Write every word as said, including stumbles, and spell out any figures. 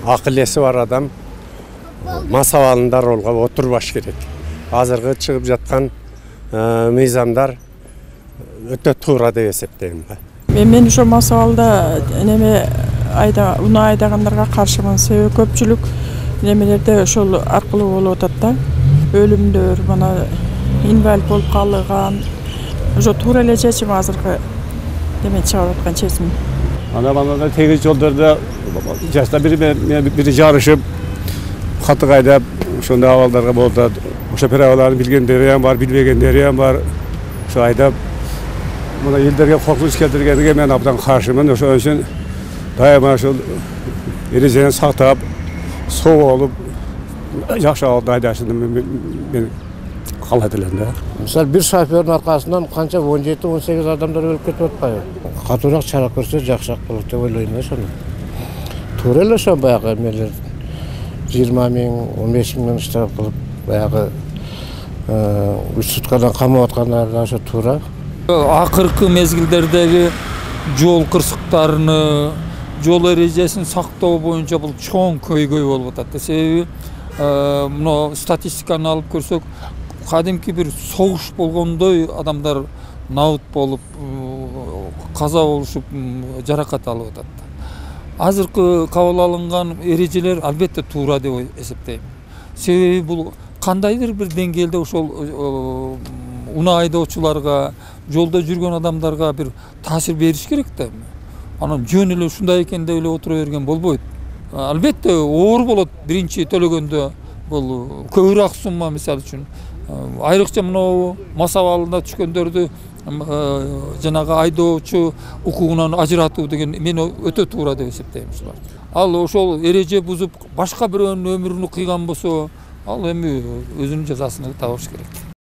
акыл эси бар адам мас абалында ролго отурбаш керек. Азыркы чыгып жаткан мыйзамдар өтө туура деп эсептейм. Мен ошо мас абалда неме айда унаа айдагандарга каршымын. Себеби көпчүлүк немелерде ошол аркылуу болуп атат да. Өлүмдөр, мына инвалид болуп калган. Ошо туура эле чечим азыркы неме чыгарып аткан чечим. Ана балада тегиз жолдордо жашта бири бири жарышып, каты кайдап, ошондой абалдарга болуп атат. Ошо правиларын билгендери ham бар, билбегендери ham бар. Ошо айдап мына элдерге коркунуч келтиргенге мен абдан каршымын. Ошон үчүн дайыма ошол эрежени сактап, соо болуп, жакшы абалда айдашын мен каалайт элем да. Мисалы бир шофердин аркасынан канча он жети он сегиз адамдар өлүп кетип атпайбы? Катуураак чара көрсө жакшыраак болот деп ойлойм ошону. Туура эле ошо баягы эмелер жыйырма миң, он беш миңден штраф кылып, баягы үч суткадан камап аткандар да ошо туура. Акыркы мезгилдердеги жол кырсыктарыны, жол эрежесин сактоо боюнча бул чоң көйгөй болуп атат. Себеби мына статистиканы алып көрсөк, кадимки бир согуш болгондой адамдар набыт болуп, каза болушуп, жаракат алып атат. Азыркы кабыл алынган эрежелер албетте туура деп эсептейм. Себеби бул кандайдыр бир деңгээлде ошол унаа айдоочуларга, жолдо жүргөн адамдарга бир таасир бериш керек да. Анан жөн эле ушундай экен деп эле отура берген болбойт. Албетте оор болот биринчи төлөгөндө, бул көбүрөөк сумма мисалы үчүн. Айрыкча мына мас абалына түшкөндөрдү жанагы айдоочу укугунан ажыратуу деген мен өтө туура деп эсептейм ушулар. Ал ошол эреже бузуп башка бирөөнүн өмүрүн кыйган болсо, ал эми өзүнүн жазасын табыш керек.